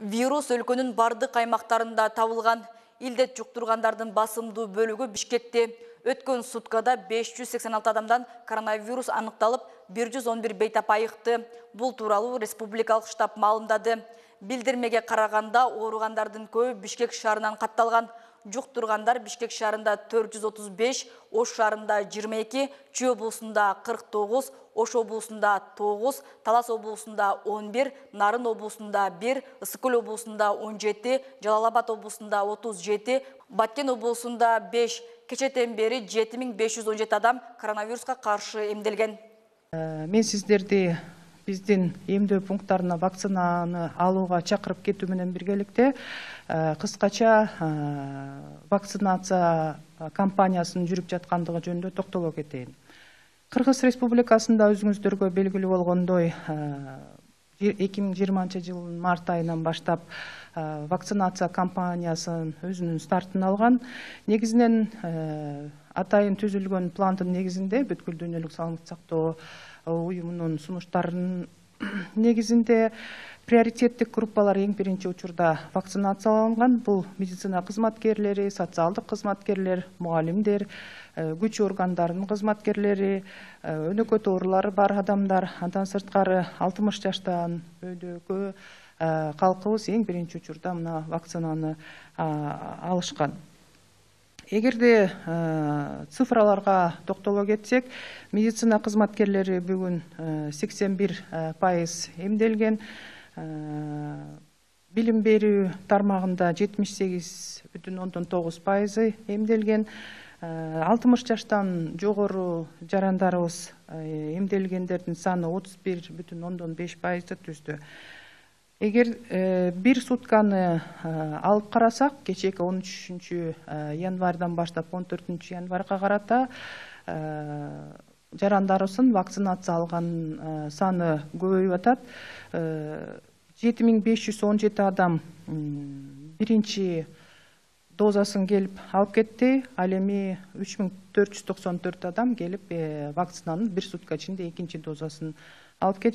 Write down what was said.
Вирус өлкөнүн бардык аймактарында табылган. Илдет жуктургандардын басымдуу бөлүгү Бишкекте. Өткөн суткада 586 адамдан коронавирус аныкталып, 111 бейтап айыкты. Бул тууралуу республикалык штаб маалымдады. Билдирмеге караганда ооругандардын көбү Бишкек шаарынан катталган. Жуктургандар Бишкек шаарында 435, Ош шаарында 22, Чүй облусунда 49, Ош облусунда 9, Талас облусунда 11, Нарын облусунда 1, Ысык Көл облусунда 17, Жалал Абад облусунда 37, Баткен облусунда 5. Кечетен бери 7517 адам коронавируска каршы эмделген. Мен сиздерди биздин эмдөө пункттарына вакцинаны алууга чакырып кетүү менен биргеликте кыскача вакцинация кампаниясынын жүрүп жаткандыгы жөнүндө токтоло кетейин. Кыргыз Республикасында өзүңүздөргө белгилүү болгондой 2020 жылдын март айынан баштап вакцинация кампаниясынын өзүнүн стартын алган. Негизинен атайын түзүлгөн пландын негизинде бүткүл дүйнөлүк саламаттык сактоо уюмунун сунуштарынын негизинде приоритеттик группалар эң биринчи учурда вакцинацияланган. Бул медицина кызматкерлери, социалдык кызматкерлер, мугалимдер, күч органдарынын кызматкерлери, өнөкөт оорулары бар адамдар, андан сырткары 60 жаштан өйдөгү калкыбыз эң биринчи учурда мына вакцинаны алышкан. Эгерде цифраларга токтоло кетсек, медицина кызматкерлери бүгүн 81% эмделген, билим берүү тармагында 78,9% эмделген, 60 жаштан жогору жарандарыбыз эмделгендердин саны 31,5% түздү. Эгер бир сутканы алып карасак, кечээки 13 январдан баштап 14 январга карата жарандарыбыздын вакцинация алган саны көбөйүп атат. 7517 адам биринчи дозасын келип алып кетти, ал эми 3494 адам келип вакцинанын бир сутка ичинде экинчи дозасын алып кетишти.